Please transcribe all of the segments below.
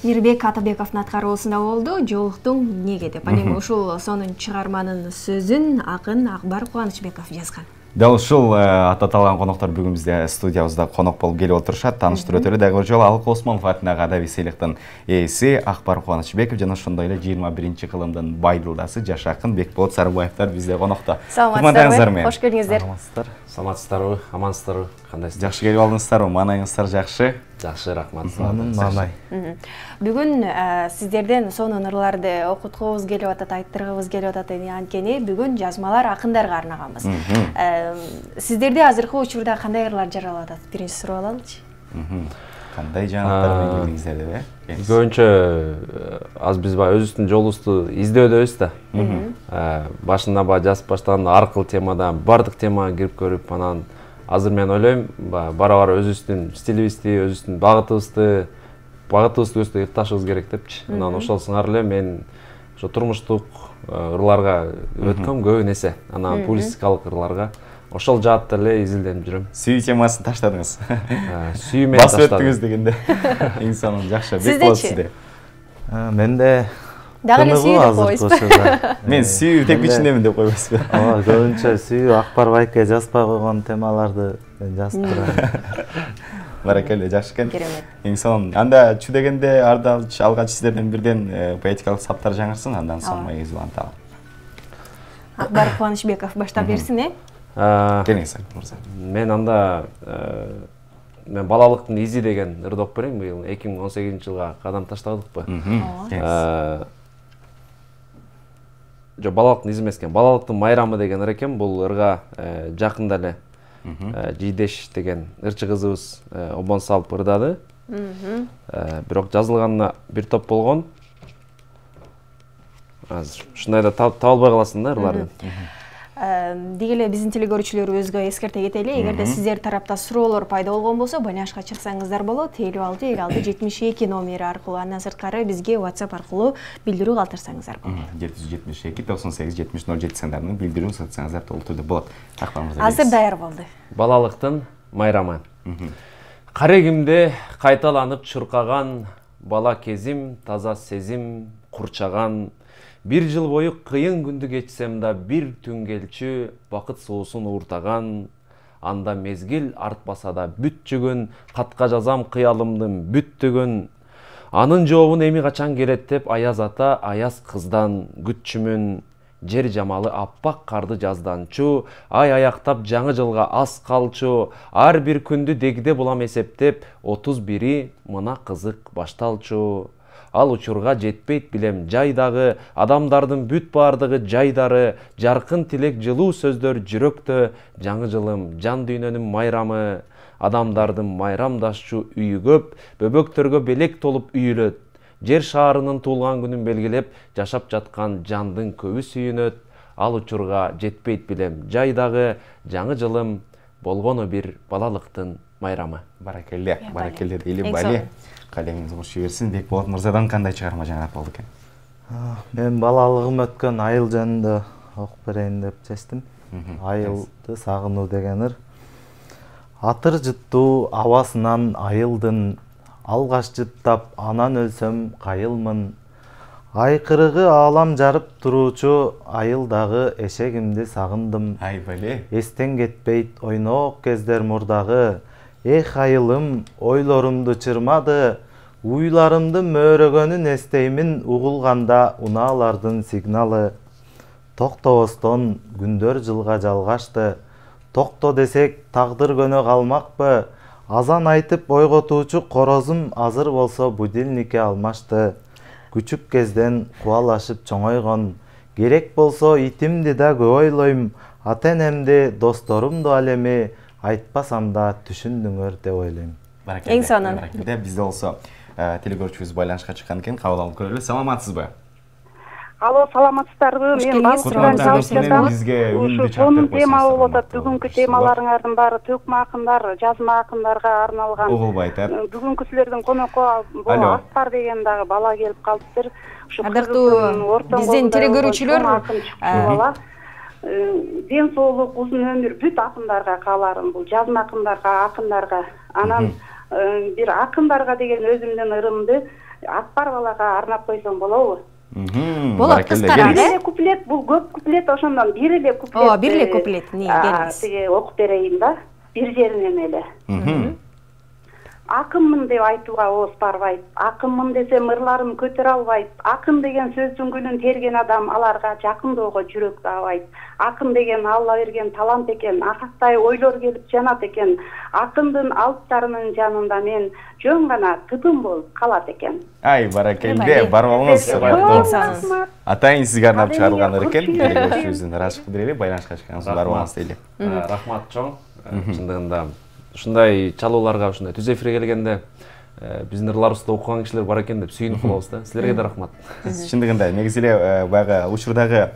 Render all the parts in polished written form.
Мирбек Атабековдун аткаруусунда болду. Жолуктуң эмнеге деп. Анан ушул сонун чыгарманын сөзүн акын Акбар Кубанычбеков жазган. Дал ушул аталган коноктор бүгүн бизде студиябызда конок болуп келип отурушат. Тааныштырып өтөлү. Дагы бир жолу Алык Осмонов атындагы адаби сыйлыктын ээси Акбар Кубанычбеков жана ошондой эле 21-кылымдын байдылдасы жаш акын Бекболот Сарыбаевдер бизде конокто. Саламатсыздарбы? Кош келиңиздер. Саламатсыздарбы? Амансыздарбы? Кандайсыздар? Жакшы келип алдыңыздарбы? Маанайыңыздар жакшы? Жакшы, рахмат. Маанай. Бүгүн сиздерден сонун ырларды окуткубуз келип атат, айттыргыбыз келип атат. Анткени бүгүн жазмалар акындарга арнаганбыз. Сиздерде азыркы учурда кандай ырлар жаралып атат? Биринчи сурап алалычы. Кандай жаңылыктар менен келдиңиздер деп? Көбүнчө аз биз баягы өзүбүздүн жолубузду издөөдөбүз да. Башында баягы жазып баштаганда аркыл темадан бардык темага кирип көрүп, анан азыр мен ойлойм, бара-бара өзүбүздүн стилибизди, өзүбүздүн багытыбызды ыкташыбыз керек депчи. Анан ошол сыңар эле мен ошо турмуштук ырларга өткөм көп нерсе. Анан публицистикалык ырларга ошол жаатта эле изилденип жүрөм. Сүйүү темасын таштадыңыз. Сүйүү менен таштадым. Басып өттүңүз дегенде. Эң сонун жакшы. Бекболот сизде. Менде дагы эле сүйүү деп койбойсузбу? Мен сүйүү тек ичиндемин деп койбойсузбу? Ооба, көбүнчө сүйүү Акбар байке жазбай койгон темаларды мен жазып турам. Баракелде, жакшы экен. Эң сонун. Анда чү дегенде алгач сиздерден бирден поэтикалык саптар жаңырсын, андан соң майыбызды уланталы. Акбар Кубанычбеков баштап берсин, Келиңиз, мырза. Мен анда мен балалыктын изи деген ырды окуп берейин. Быйыл 2018-жылга кадам таштадыкпы? Жок, балалыктын изи эмес экен. Балалыктын майрамы деген ыр экен. Бул ырга жакында эле Жийдеш деген ырчы кызыбыз обон салып ырдады. Бирок жазылганына бир топ болгон. Азыр ушундай да таап албай каласың да ырларды. Деги эле биздин телекөрүүчүлөрүбүзгө эскерте кетели. Эгерде сиздер тарапта суроолор пайда болгон болсо, байланышка чыксаңыздар болот. 56-56-72 номери аркылуу, андан сырткары бизге WhatsApp аркылуу билдирүү калтырсаңыздар болот. 772-98-007 сандарынан билдирүү сатсаңыздар толук түрдө болот. Азыр даяр болду. Балалыктын майрамы. Карегимде кайталанып чуркаган бала кезим, таза сезим курчаган. Бир жыл бою кыйын күндү кечсем да бир түн келчү бакыт суусун ууртаган. Анда мезгил артпаса да бүт-жүгүн, катка жазам кыялымдын бүттүгүн. Анын жообун эми качан келет деп аяз ата, аяз кыздан күтчүмүн. Жер жамалы аппак карды жазданчу, ай аяктап жаңы жылга аз калчу. Ар бир күндү дегде булам эсептеп, 31-и мына кызык башталчу. Ал учурга жетпейт билем жайдагы, адамдардын бүт бардыгы жайдары, жаркын тилек жылуу сөздөр жүрөктө, жаңы жылым жан дүйнөнүн майрамы. Адамдардын майрамдашчу үйү көп, бөбөктөргө белек толуп үйүлөт. Жер шаарынын туулган күнүн белгилеп, жашап жаткан жандын көбү сүйүнөт. Ал учурга жетпейт билем жайдагы, жаңы жылым болгону бир балалыктын майрамы. Баракелде, баракелде дейли бали. Калемиңиз кош берсин. Бекболот мырзадан кандай чыгарма жаңырат болду экен? Мен балалыгым өткөн айыл жөнүндө окуп берейин деп чечтим. Айылды сагынуу деген ыр. Атыр жыттуу абасынан айылдын, алгаш жыттап анан өлсөм кайылмын. Айкырыгы аалам жарып туруучу айылдагы эшегимди сагындым. Ай бали. Эстен кетпейт ойноок кездер мурдагы. Эх айылым, ойлорумду чырмады, уйларымды мөөрөгөнүн эстеймин угулганда унаалардын сигналы. Токтобостон күндөр жылга жалгашты, токто десек тагдыр көнө калмакпы, азан айтып ойготуучу корозум азыр болсо будильникке алмашты. Күчүк кезден кубалашып чоңойгон, керек болсо итимди да көп ойлойм, ата-энемди, досторумду ал эми айтпасам да түшүндүңөр деп ойлойм. Эң сонун. Бизде болсо телекөрүүчүбүз байланышка чыккан экен, кабыл алып көрөлү. Саламатсызбы? Алло, саламатсыздарбы? Мен Балкырдан чалып жатам. Ушу сонун тема болуп атат. Бүгүнкү темаларыңардын баары төкмө акындар, жазма акындарга арналган. Угулбай айтат. Бүгүнкү силердин конокко Акбар деген дагы бала келип калыптыр. Адактуу биздин телекөрүүчүлөр ден соолук, узун өмүр бүт акындарга кааларым. Бул жазма акындарга, анан бир акындарга деген өзүмдүн ырымды Акбар балага арнап койсоң болобу? Болот, кыскараак Бир эле куплет, бул көп куплет, ошондон бир эле куплет. Ооба, бир эле куплет. Келиңиз. Тиги окуп берейин да. Бир жеринен эле. Акынмын деп айтууга ооз барбайт. Акынмын десем ырларым көтөрө албайт. Акын деген сөздүн гүлүн терген адам аларга жакындоого жүрөк таабайт. Акын деген Алла берген талант экен. Акактай ойлор келип жанат экен. Акындын алыптарынын жанында мен жөн гана тыпым болуп калат экен. Ай, баракелде, барбаңыз. Атайын сизге арнап чыгарылган экен. Көрүшүбүздүн ырашык берели, байланышка чыккансыз барбаңыз дейли. Рахмат чоң. Чындыгында ушундай чалууларга, ушундай түз эфирге келгенде биздин ырларыбызды окуган кишилер бар экен деп сүйүнүп калабыз да. Силерге да рахмат. Чындыгында негизи эле баягы учурдагы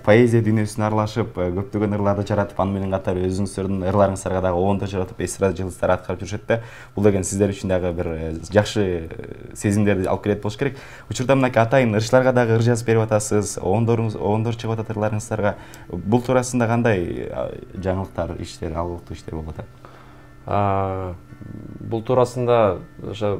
поэзия дүйнөсүнө аралашып, көптөгөн ырларды жаратып, аны менен катар өзүңүздөрдүн ырларыңыздарга дагы оонду жаратып, эстрада жылдыздар аткарып жүрүшөт да. Бул деген сиздер үчүн дагы бир жакшы сезимдерди алып келет болуш керек. Учурда мынакей атайын ырчыларга дагы ыр жазып берип атасыз, оондор чыгып атат ырларыңыздарга. Бул туурасында кандай жаңылыктар, иштер, алгылыктуу иштер болуп атат? Бул туурасында ошо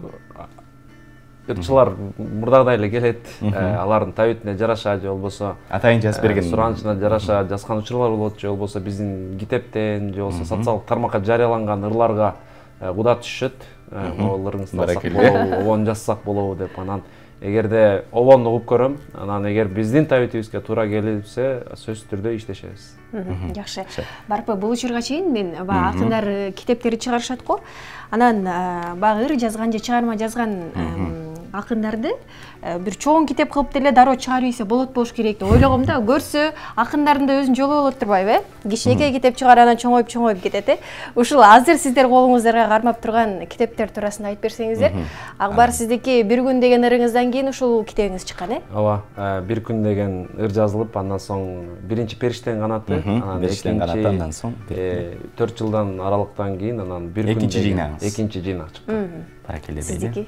ырчылар мурдагыдай эле келет, алардын табитине жараша же болбосо атайын жазып берген суранычына жараша жазган учурлар болот, же болбосо биздин китептен же болбосо социалдык тармакка жарыяланган ырларга куда түшүшөт. Могул ырыңызды алсак болобу, обон жазсак болобу деп. Анан эгерде обонду угуп көрөм, анан эгер биздин табитибизге туура келипсе, сөзсүз түрдө иштешебиз. Жакшы. Барпы, бул учурга чейин мен баягы акындар китептерди чыгарышат го. Анан баягы ыр жазган же чыгарма жазган акындарды бир чоң китеп кылып деле дароо чыгарып ийсе болот керек деп ойлогом да. Көрсө акындардын да өзүнүн жолу болот турбайбы, Кичинекей китеп чыгарып анан чоңоюп кетет. Ушул азыр сиздер колуңуздарга кармап турган китептер туурасында айтып берсеңиздер. Акбар, сиздики бир күн деген ырыңыздан кийин ушул китебиңиз чыккан, Ооба, бир күн деген ыр жазылып, андан соң биринчи Периштенин канаты, анан экинчи 4 жылдан аралыктан кийин анан бир күн деген экинчи жыйнак чыккан. Баракелде. Сиздики?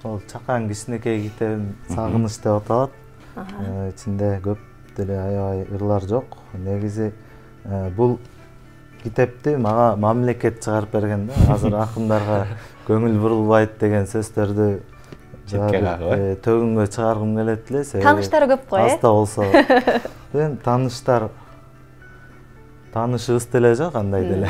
Ол чакан кичинекей китебим Сагыныч деп аталат. Ичинде көп деле аябай ырлар жок. Негизи бул китепти мага мамлекет чыгарып берген да. Азыр акындарга көңүл бурулбайт деген сөздөрдү төгүнгө чыгаргым келет эле. Тааныштары көп го, Аста болсо. Тааныштар таанышыбыз деле жок, андай деле.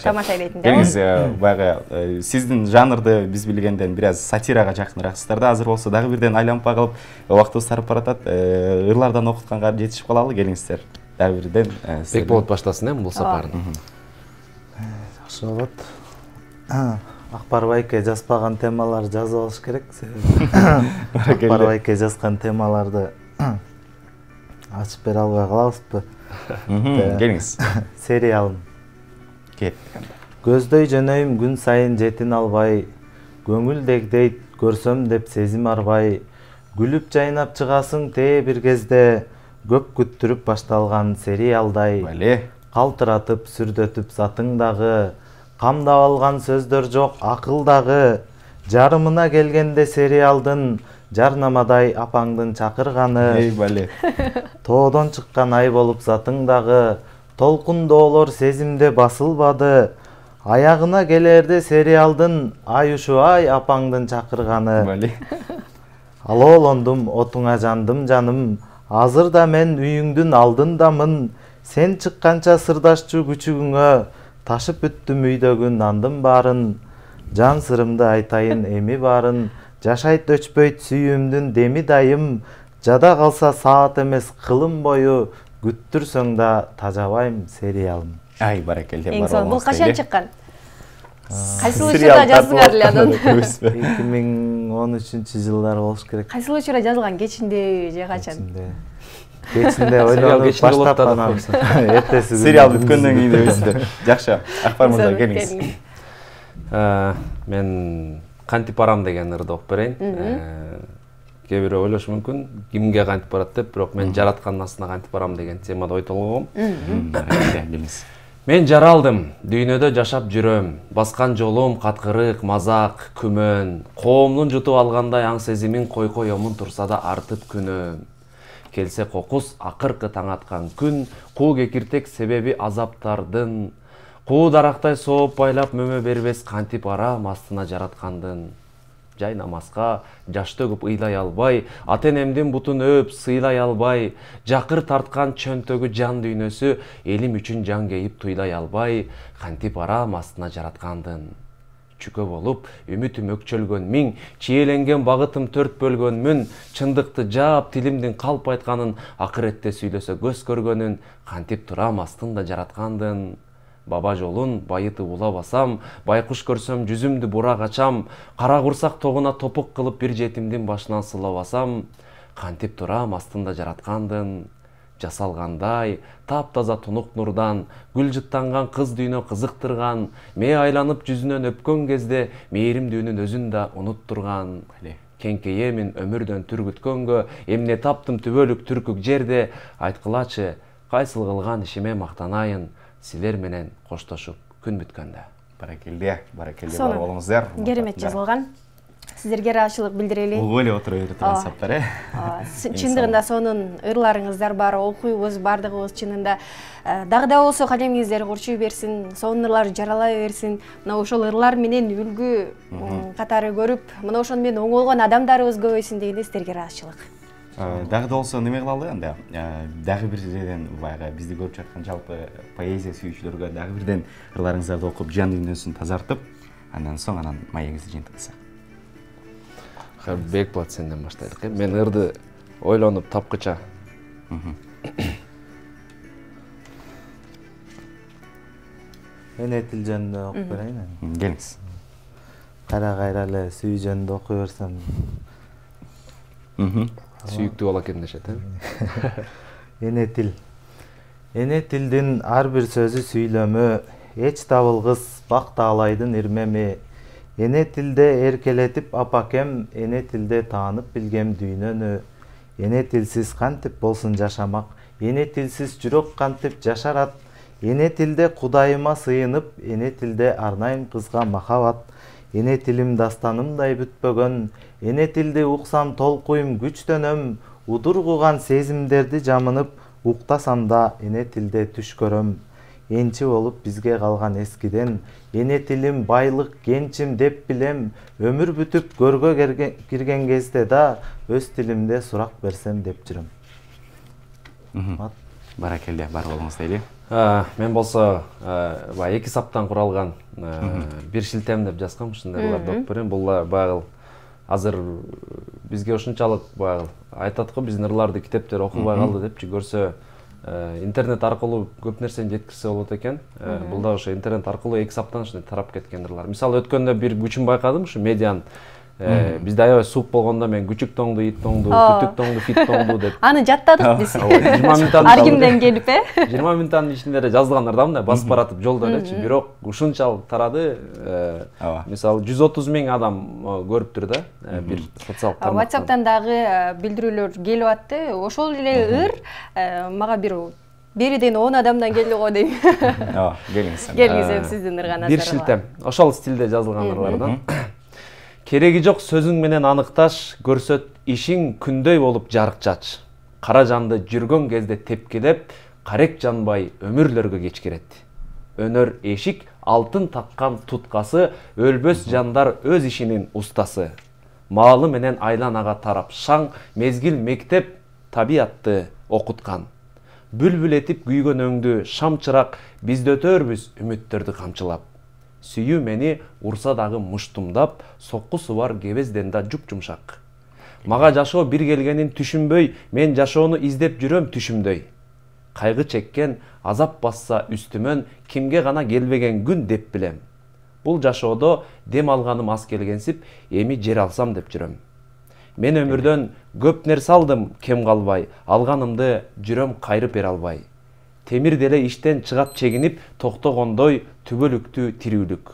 Тамаша элейтин. Келиңиз, баягы сиздин жанрды биз билгенден бир аз сатирага жакыныраксыздар да. Азыр болсо дагы бирден айланып калып, убактыбыз тарып баратат. Ырлардан окутканга жетишип калалы, келиңиздер. Дагы бирден Бек болот баштасын бул сапарын. Жакшы болот. Акбар байке жазбаган темалар жазып алыш керек. Акбар байке жазган темаларды ачып бере албай калабызбы? Келиңиз. Сериалым. Кет. Көздөй жөнөйм күн сайын жетин албай, көңүлдек дейт көрсөм деп сезим арбай, күлүп жайнап чыгасың тээ бир кезде, көп күттүрүп башталган сериалдай. Калтыратып сүрдөтүп затыңдагы, камдап алган сөздөр жок акылдагы, жарымына келгенде сериалдын жарнамадай апаңдын чакырганы. Тоодон чыккан ай болуп затыңдагы, толкундоолор сезимде басылбады. Аягына келерде сериалдын ай ушу ай апаңдын чакырганы. Алоолондум отуңа жандым жаным, азыр да мен үйүңдүн алдындамын. Сен чыкканча сырдашчу күчүгүңө, ташып бүттүм үйдөгү нандын баарын. Жан сырымды айтайын эми баарын, жашайт өчпөйт сүйүүмдүн деми дайым. Жада калса саат эмес кылым бою, күттүрсөң да тажабайм сериалым. Ай, баракелде. Бул качан чыккан? Кайсыл учурда жаздыңар эле анан? 2013-жылдар болуш керек. Кайсыл учурда жазылган, кечинде же качан? Кечинде ойлонуп баштап анан эртеси сериал бүткөндөн кийин дебейсиздер. Жакшы. Акбар мырза, келиңиз. Мен кантип барам деген ырды окуп берейин. Кээ бирөө ойлошу мүмкүн, кимге кантип барат деп, бирок мен жараткан насына кантип барам деген темада ой толгогом. Мен жаралдым, дүйнөдө жашап жүрөм, баскан жолум каткырык, мазак, күмөн, коомдун жутуп алгандай аң сезимин койомун турса да артып күнөм. Келсе кокус акыркы таң аткан күн, куу кекиртек себеби азаптардын, куу дарактай сооп байлап мөмө бербес кантип арам астына жараткандын. жай намазга жаш төгүп ыйлай албай, ата энемдин бутун өөп сыйлай албай, жакыр тарткан чөнтөгү жан дүйнөсү элим үчүн жан кейип туйлай албай, кантип арам астына жараткандын. Чүкө болуп, үмүтүм өкчөлгөн миң, чиеленген багытым төрт бөлгөнмүн, чындыкты жаап тилимдин калп айтканын, акыретте сүйлөсө көз көргөнүн, кантип турам астында жараткандын. Баба жолун байытып улабасам, байкуш көрсөм жүзүмдү бурак ачам, кара курсак тогуна топук кылып бир жетимдин башынан сылабасам, кантип турам астында жараткандын. Жасалгандай, таптаза тунук нурдан, гүл жыттанган кыз дүйнө кызыктырган, мээ айланып жүзүнөн өпкөн кезде мээримдүүнүн өзүн да унуттурган. Кеңкейемин өмүрдөн түргүткөнгө, эмне таптым түбөлүк түркүк жерде, айткылачы, кайсыл кылган ишиме мактанайын, силер менен коштошуп күн бүткөндө. Баракелде бар болуңуздар. Керемет жазылган. Сиздерге ыраазычылык билдирели. Угуп эле отура берип турган саптар, Чындыгында сонун ырларыңыздар бар, окуйбуз бардыгыбыз чынында. Дагы да болсо калемиңиздер курчуй берсин, сонун ырлар жаралай берсин. Мына ошол ырлар менен үлгү катары көрүп, мына ошону менен оңолгон адамдарыбыз көбөйсүн дегенде сиздерге ыраазычылык. Дагы да болсо неме кылалы анда? Дагы бирден баягы бизди көрүп жаткан жалпы поэзия сүйүүчүлөргө дагы бирден ырларыңыздарды окуп, жан дүйнөсүн тазартып, андан соң маегибизди жыйынтыксак. Бекболот сенден баштайлык. Мен ырды ойлонуп тапкыча. Эне тил жөнүндө окуп берейин. Келиңиз. Кара кайра эле сүй жөнүндө окуй берсем. Сүйүктүү бала экен дешет, Эне тил. Эне тилдин ар бир сөзү сүйлөмө, эч табылгыс бак таалайдын ирмеми. Эне тилде эркелетип апакем, эне тилде таанып билгем дүйнөнү. Эне тилсиз кантип болсун жашамак, эне тилсиз жүрөк кантип жашарат. Эне тилде Кудайыма сыйынып, эне тилде арнайым кызга махабат. Эне тилим дастанымдай бүтпөгөн, эне тилди уксам толкуйм күчтөнөм. Удургуган сезимдерди жамынып, уктасам да эне тилде түш көрөм. Энчи болуп бизге калган эскиден, эне тилим байлык кенчим деп билем. Өмүр бүтүп көргө кирген кезде да өз тилимде сурак берсем деп жүрөм. Баракелде бар болуңуз дейли. Мен болсо баягы 2 саптан куралган бир шилтем деп жазгам, ушундай ырларды окуп берем. Бул баягы азыр бизге ушунчалык баягы айтат го, биздин ырларды китептер окубай калды депчи, көрсө интернет аркылуу көп нерсени жеткирсе болот экен. Бул да ошо интернет аркылуу 2 саптан ушундай тарап кеткен ырлар. Мисалы өткөндө бир күчүн байкадым, ушу медианын. Бизде аябай суук болгондо мен күчүк тоңду, ит тоңду, түтүк тоңду, фит тоңду деп. Аны жаттадык биз. 20 минуттан ар кимден келип, 20 минуттан ичинде эле жазылгандар да мындай басып баратып жолдо элечи. Бирок ушунчалык тарады. Мисалы 130 000 адам көрүптүр да бир социалдык тармактан. WhatsApp'тан дагы билдирүүлөр келип атты. Ошол эле ыр мага бериден 10 адамдан келди го дейм. Келиңиз. Келиңиз сиздин ырганыздар. Бир шилтем. Ошол стилде жазылган ырлардан. Кереги жок сөзүң менен аныкташ, көрсөт ишиң күндөй болуп жарык чач. Кара жанды жүргөн кезде тепкилеп, карек жанбай өмүрлөргө кечкирет. Өнөр эшик, алтын таккан туткасы, өлбөс жандар өз ишинин устасы. Маалы менен айланага тарап шаң, мезгил мектеп табиатты окуткан. Бүлбүл этип күйгөн өңдү шам чырак, бизде өтөрбүз үмүттөрдү камчылап. Сүйүү мени урса дагы муштумдап, соккусу бар кебезден да жуп-жумшак. Мага жашоо бир келгенин түшүнбөй, мен жашоону издеп жүрөм түшүмдөй. Кайгы чеккен, азап басса үстүмөн, кимге гана келбеген күн деп билем. Бул жашоодо дем алганым аз келгенсип, эми жер алсам деп жүрөм. Мен өмүрдөн көп нерсе алдым, кем калбай, алганымды жүрөм кайрып бере албай. Темир деле иштен чыгат чегинип, токтогондой түбөлүктүү тирүүлүк.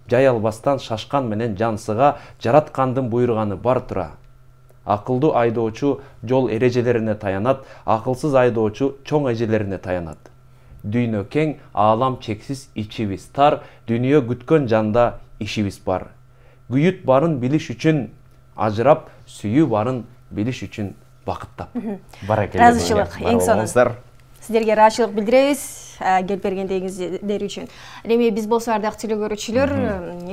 Жай албастан шашкан менен жансыга, жараткандын буйруганы бар тура. Акылдуу айдоочу жол эрежелерине таянат, акылсыз айдоочу чоң эжелерине таянат. Дүйнө кең, аалам чексиз, ичибиз тар, дүйнө күткөн жанда ишибиз бар. Күйүт барын билиш үчүн ажырап, сүйүү барын билиш үчүн бакыттап. Баракелде. Ыраазычылык, эң сонун. Сиздерге ыраазычылык билдиребиз. келип бергендигиңиздер үчүн. Эми биз болсо ардактуу телекөрүүчүлөр,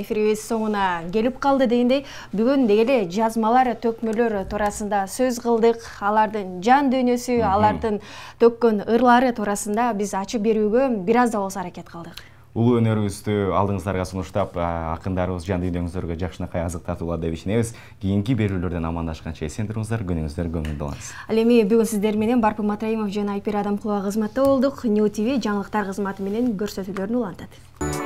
эфирибиз соңуна келип калды дегендей, бүгүн дегеле жазмалар, төкмөлөр туурасында сөз кылдык. Алардын жан дүйнөсү, алардын төккөн ырлары туурасында биз ачып берүүгө бир аз да болсо аракет кылдык. Улуу өнөрүңүздү алдыңыздарга сунуштап, акындарыбыз жан дүйнөңүздөргө жакшынакай азык тартуулар деп ишенебиз. Кийинки берүүлөрдөн амандашканча эсен туруңуздар, күнүңүздөр көңүлдүү болсун. Ал эми бүгүн сиздер менен Барпын Матраимов жана Айпир Адамкулова кызматта болдук. New TV жаңылыктар кызматы менен көрсөтүүлөрүн улантат.